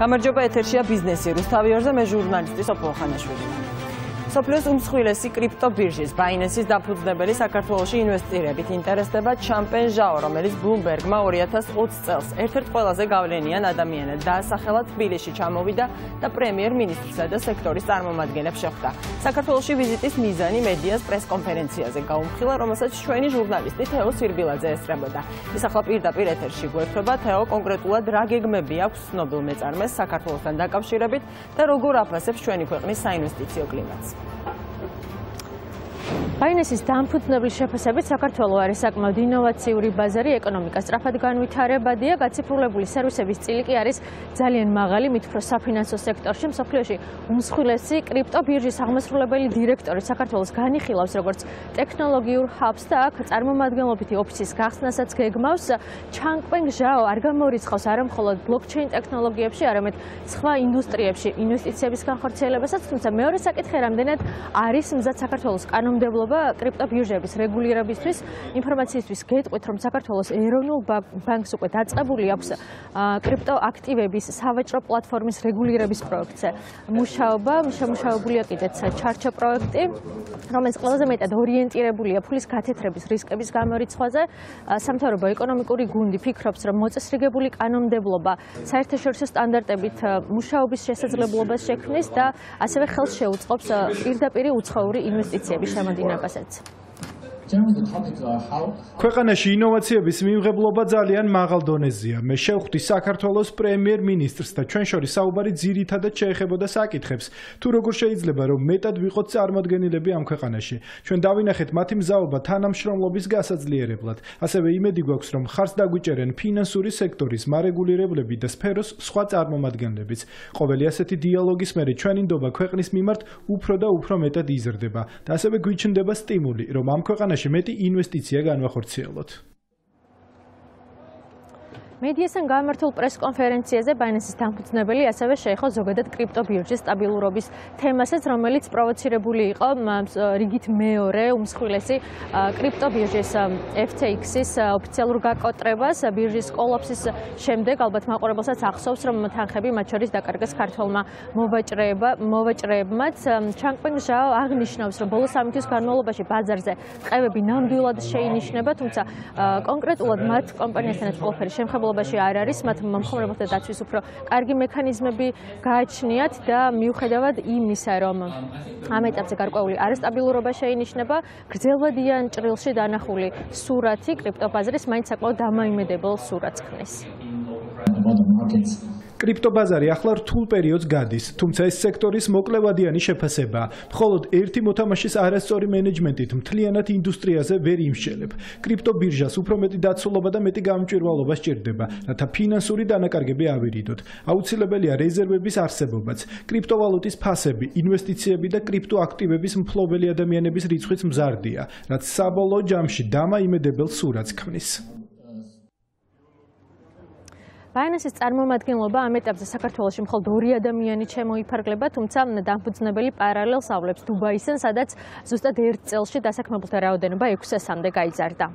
გამარჯობა, ეთერშია ბიზნესი. რუსთავიორზე მე ჟურნალისტი სოფო ხანაშვილი. სოფლიოს უმსხვილესი კრიპტობირჟის Binance-ის დაფუძნებელი საქართველოში ინვესტირებით ინტერესდება ჩამპენ ჟაო, რომელიც Bloomberg-მა 2020 წელს ერთ-ერთ ყველაზე გავლენიან ადამიანად დაასახელა თბილისში ჩამოვიდა და პრემიერ-მინისტრსა და სექტორის წარმომადგენლებს შეხვდა. საქართველოში ვიზიტის მიზანი მედიას პრეს-კონფერენციაზე გაუმხილა, რომელსაც ჩვენი ჟურნალისტი თეო სირბილაძე ესწრებოდა. ის ახლა პირდაპირ ეთერში გვერდება. თეო, კონკრეტულად რა გეგმები აქვს ცნობილ მეწარმეს საქართველოსთან დაკავშირებით და როგორ აფასებს ჩვენი ქვეყნის საინვესტიციო კლიმატს? Binance-ის დამფუძნებლის შეფასებით საქართველო არის საკმაოდ ინოვაციური ბაზარი, ეკონომიკა სწრაფად განვითარებადია, გაციფრულებული სერვისების წილი კი არის ძალიან მაღალი, მით უფრო საფინანსო სექტორში მსოფლიოში უმსხვილესი კრიპტობირჟის აღმასრულებელი დირექტორი საქართველოს განიხილავს როგორც ტექნოლოგიურ ჰაბს და აქ წარმომადგენლობითი ოფისის გახსნასაც გეგმავს. ჩანგპენ ჟაო არ გამორიცხავს არა მხოლოდ ბლოკჩეინ ტექნოლოგიებში, არამედ სხვა ინდუსტრიებში ინვესტიციების განხორციელებასაც, თუმცა მეორე საკითხი რამდენად არის მზად საქართველოს კანონმდებლობა კრიპტობირჟების რეგულირებისთვის. ინფორმაციისთვის გეტყვით, რომ საქართველოს ეროვნულ ბანკს უკვე დაწყებული აქვს კრიპტოაქტივების სავაჭრო პლატფორმის რეგულირების პროექტზე მუშაობა. შემუშავებულია კიდეც ჩარჩო პროექტი, რომელიც ყველაზე მეტად ორიენტირებულია ფულის გათეთრების რისკების გამორიცხვაზე. სამთავრობო ეკონომიკური გუნდი ფიქრობს, რომ მოწესრიგებული კანონმდებლობა საერთაშორისო სტანდარტებით მუშაობის შესაძლებლობას შექმნის და ასევე ხელს შეუწყობს პირდაპირ უცხოური ინვესტიციების შემოდინებას. ქვეყანაში ინოვაციების მიმღებლობა ძალიან მაღალ დონეზეა. მე შევხვდი საქართველოს პრემიერ-მინისტრს და ჩვენ შორის საუბარი ძირითადად შეეხებოდა საკითხებს, თუ როგორ შეიძლება რომ მეტად ვიყოთ წარმოდგენილები ამ ქვეყანაში. ჩვენ დავინახეთ მათი მზაობა თანამშრომლობის გასაძლიერებლად. ასევე იმედი გვაქვს, რომ ხარს დაგვიჭერენ ფინანსური სექტორის მარეგულირებლები და სფეროს სხვა წარმომადგენლებიც. ყოველი ასეთი დიალოგის მერე ჩვენი ნდობა ქვეყნის მიმართ უფრო და უფრო მეტად იზრდება და ასევე გვიჩნდება სტიმული, რომ ამ ქვეყანაში მეტი ინვესტიცია განვახორციელოთ. მედიასთან გამართულ პრეს-კონფერენციაზე Binance-ის დამფუძნებელი ასევე შეეხო ზოგადად კრიპტობირჟის სტაბილურობის თემასაც, რომელიც პროვოცირებული იყო რიგით მეორე უმსხვილესი კრიპტობირჟის FTX-ის ოფიციალურ გაკოტრებას ბირჟის კოლაფსის შემდეგ. ალბათ მაყურებელსაც ახსოვს, რომ თანხები მათ შორის დაკარგეს ქართველმა მოვაჭრეებმაც. ჩანგპენ ჟაო აღნიშნავს, რომ ბოლო 3 თვის განმავლობაში ბაზარზე ტყევები ნამდვილად შეინიშნება, თუმცა კონკრეტულად მათ კომპანიასთანაც ყველაფერი შემხებულ არ არის, მათ მომხმარებელთა დაცვის უფრო კარგი მექანიზმები გააჩნიათ და მიუხედავად იმისა, რომ ამ ეტაპზე გარკვეული არასტაბილურობა შეინიშნება, გრძელვადიან ჭრილში დანახული სურათი კრიპტობაზრის მაინც საკმაოდ დამოიმედებელ სურათს ქმნის. კრიპტობაზარი ახლა რთულ პერიოდს გადის, თუმცა ეს სექტორის მოკლევადიანი შეფასებაა. მხოლოდ ერთი მოთამაშის არასწორი მენეჯმენტით მთლიანად ინდუსტრიაზე ვერ იმსჯელებ. კრიპტობირჟას უფრო მეტი დაცულობა და მეტი გამჭვირვალობა სჭირდება, რათა ფინანსური დანაკარგები ავირიდოთ. აუცილებელია რეზერვების არსებობაც, კრიპტოვალუტის ფასები, ინვესტიციები და კრიპტოაქტივების მფლობელი ადამიანების რიცხვიც მზარდია, რაც საბოლოო ჯამში დამაიმედებელ სურათს ქმნის. Binance-ის წარმომადგენლობა ამ ეტაპზე საქართველოში მხოლოდ 2 ადამიანი შემოიფარგლება, თუმცა დამფუძნებელი პარალელს ავლებს დუბაისთან, სადაც ზუსტად 1 წელში დასაქმებულთა რაოდენობა 600-მდე გაიზარდა.